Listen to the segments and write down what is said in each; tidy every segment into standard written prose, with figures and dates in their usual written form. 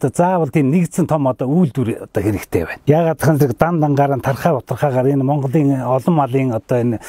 одоо заавал тийм нэгдсэн том одоо үйлдвэр одоо хэрэгтэй байна. Яагаад гэвэл дангаар нь тархаа утархаагаар энэ Монголын олон малын одоо энэ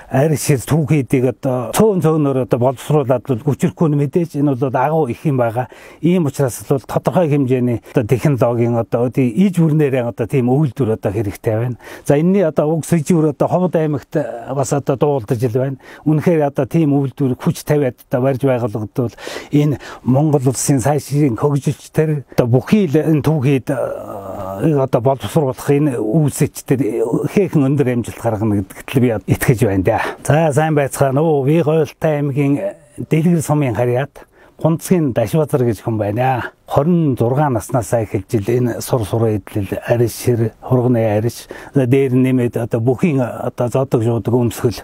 арь шир түүхийдийг одоо цөөнөөр одоо боловсруулад хүчрэхгүй нь мэдээж энэ бол агуу их юм байгаа. Ийм учраас бол тодорхой хэмжээний одоо технологийн одоо иж бүрнээрээ одоо тийм үйлдвэр одоо хэрэгтэй байна. За энэний одоо уг сэжүүр одоо Ховд аймагт бас одоо дуулдаж ил байна. Үнэхээр одоо тийм үйлдвэр хүч тавиад одоо барьж байгуулагдвал энэ Монгол улсын сайшрын хөгжилч тэр одоо бүхий л энэ түүхийд одоо боловсруулах энэ үүсэж тэр ихээхэн өндөр амжилт гаргана гэдэгт би итгэж байна да. За сайн байцгаана уу. Би Гойлтой аймгийн Дэлгэр сумын харьяат Гунцгийн Дашбазар гэж хүн байна. 26 наснаасаа эхэлж энэ сур эдлэл ариш шир хурганы ариш дээр нэмээд одоо бүхий одоо зодог жуудаг өмсгөл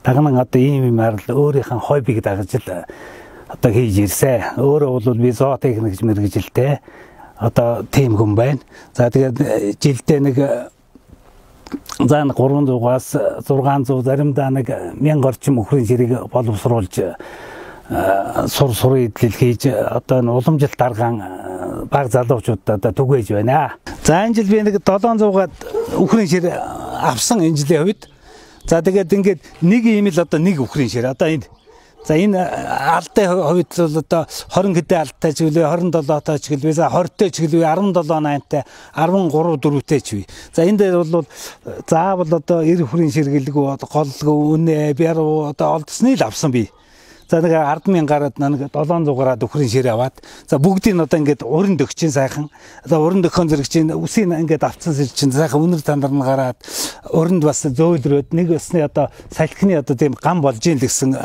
дагнан одоо ийм юмар л өөрийнх нь хоббиг дагаж л одоо хийж ирсэн. Өөрөө бол би зоотехникч мэргэжилтэй одоо тийм хүн байна. За тэгээд жилдээ нэг за 300-аас 600 заримдаа нэг 1000 орчим өхрийн ширийг боловсруулж сур эдлэл хийж одоо уламжлалт даргаан баг залуучуудад одоо түгээж байна. За энэ жил би нэг 700-аад өхрийн шир авсан энэ жилийн хувьд. За тэгээд ингээд нэг ийм л одоо нэг өхрийн шир одоо энэ за энэ алтай хувьд бол одоо 20 хэдэн алтай ч гэлээ 27 ч гэлээ 20-тэй ч гэлээ 17 8-тай 13 4-тэй ч вэ. За энэ дээр бол заавал одоо 90 хүрийн ширгэлгүй голлгүй үнэ бяруу одоо олдсны л авсан би. За нэг 10,000 гараад нэг 700 гараад өхрийн шир аваад за бүгдийг одоо ингээд уран дөгчин сайхан одоо уран дөхөн зэрэг чинь үсийг ингээд авцсан сэл чинь сайхан үнэр тандар нь гараад уранд бас зөөлрөөд нэг өсний одоо салхины одоо тийм гам болж ийн л гэсэн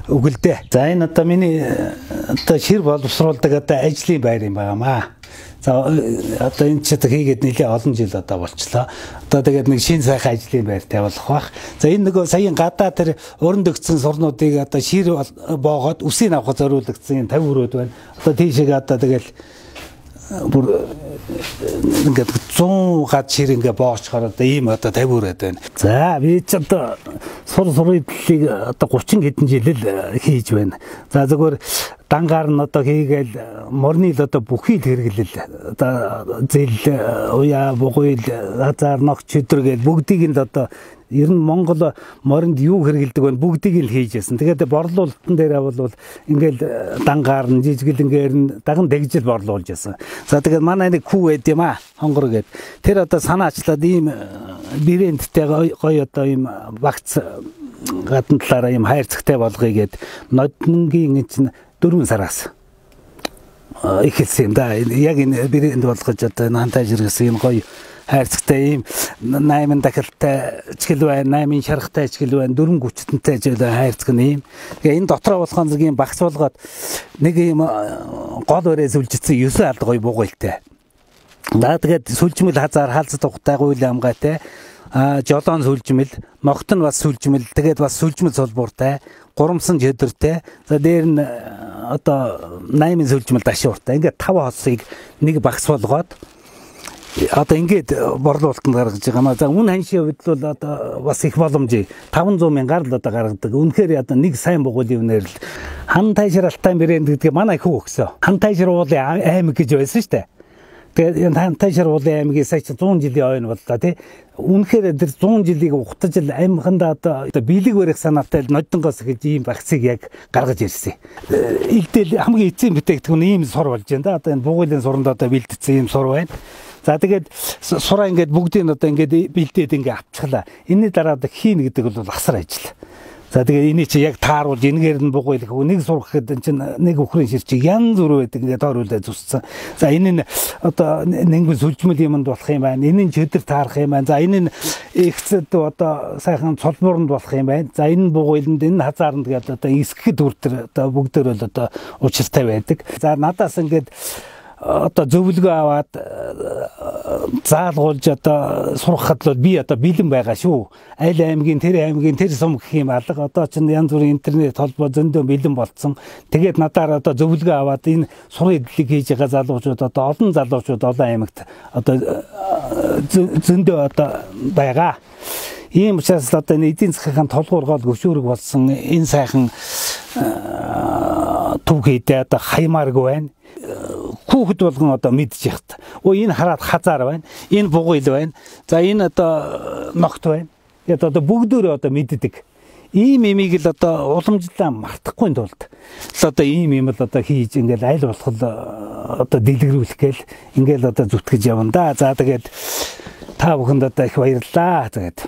үгэлдээ. За энэ одоо миний одоо шир боловсруулдаг одоо ажлын байр юм байгаамаа. За одоо энэ ч хийгээд нэлээ олон жил одоо болчлоо. Одоо тэгээд нэг шин сайхан ажлын байр тавиулах бах. За энэ нөгөө саяын гадаа тэр уран дөгцсөн сурнуудыг одоо шир боогоод үсийг авах зориулагдсан 50 өрөөд байна. Одоо тийшээ одоо тэгэл бүр ингээд 100 гад шир ингээ боочхоор одоо ийм одоо 50 өрөөд байна. За би ч одоо сур эдлийг одоо 30 хэдэн жил л хийж байна. За зөвхөн дангаар нь одоо хийгээл морны л одоо бүхий л хэрэглэл одоо зэл уяа бугуйл хазаар ногч өдр гээд бүгдийг нь одоо ер нь Монгол моринд юу хэрэгэлдэг вэ бүгдийг л хийж яасан. Тэгээд борлуулалтын дээр бол ингээл дангаар нь жижиглэнгээр нь даган дэгжил борлуулж яасан. За тэгээд манай нэг хүү байд юм аа хонгор гээд тэр одоо санаачлаад ийм брэндтэй гоё одоо ийм багц гадна талаараа ийм хайрцагтай болгоё гээд ноднгийн чинь 4 сараас ихэлсэн юм да. Яг энэ брэнд болгож одоо хантай жиргэсэн юм гоё хайрцагтай ийм 8 дахилтай ч гэл байна, 8 шаргатай ч гэл байна, 4 гүчтэнтэй ч гэл хайрцаг нь ийм. Тэгээ энэ дотроо болохон зэрэг ийм багц болгоод нэг ийм гол өрөө сүлжицсэн 9 алд гоё бугуйлтай. За тэгээд сүлжмэл хазаар хаалцад ухтай гуйл амгайтай жолоон сүлжмэл, ногт нь бас сүлжмэл, тэгээд бас сүлжмэл солбууртай, гурамсан жөдөртэй. За дээр нь одоо 8 сүлжмэл дашууртай. Ингээд 5 хоосыг нэг багц болгоод одоо ингээд борлуулалтанд гаргаж байгаа маа. За үн ханшийн хувьд бол одоо бас их боломжийг 500,000-аар л одоо гаргадаг. Үнэхээр одоо нэг сайн бугуулын үнээр л хан тайшир алтай брэнд гэдгийг манай хүү өгсөн. Хан тайшир уулын аймаг гэж байсан шүү дээ. Тэгээд энэ хан тайшир уулын аймгийн сая 100 жилийн ойн боллоо тий. Үнэхээр тэр 100 жилийг ухтаж л аймагында одоо бэлэг барих санаатай л нодонгоос эхэлж ийм багцыг яг гаргаж ирсэн. Илдэл хамгийн эцсийн бүтээгдэхүүн ийм сур болж байна да. Одоо энэ бугуулын суранд одоо бэлдсэн ийм сур байна. За тэгээд сураа ингээд бүгдийг одоо ингээд бэлдээд ингээд авчихлаа. Энэний дараа хийн гэдэг бол асар ажил. За тэгээд энийг чи яг тааруулж энэгээр нь бугуйлах нэг сурах гэхэд чинь нэг өхрийн шир чи янз бүр байдаг ингээд тооруулаад зүссэн. За энэ нь одоо нэнгэн сүлжмэл юмд болох юм байна. Энэ нь чөдөр таарах юм байна. За энэ нь ихцэд одоо сайхан цолбууранд болох юм байна. За энэ бугуйланд энэ хазаарнд гэдэг одоо эсгэхэд үртэр одоо бүгдээр бол одоо учиртай байдаг. За надаас ингээд одоо зөвлөгөө аваад заалгуулж одоо сурахад бол би одоо бэлэн байгаа шүү. Айл аймгийн тэр сум гэх юм алга одоо ч янз бүрийн интернет холбоо зөндөө бэлэн болцсон. Тэгээд надаар одоо зөвлөгөө аваад энэ сур эдлийг хийж байгаа залуучууд одоо олон залуучууд олон аймагт одоо зөндөө одоо байгаа. Ийм учраас одоо энэ эдийн засгийн толгуур гол гөвшүүрэг болсон энэ сайхан түүхийдээ одоо хаймааргүй байна. Хүүхэд болгон одоо мэдж яхад. Энэ хараад хазаар байна. Энэ бугуйл байна. За энэ одоо ногт байна. Тэгээд одоо бүгдөө одоо мэддэг. Ийм имийг л одоо уламжлалаа мартахгүй тулд одоо ийм юм л одоо хийж ингээл аль болох одоо дэлгэрүүлэх гээл ингээл одоо зүтгэж явна да. За тэгээд та бүхэнд одоо их баярлалаа. Тэгээд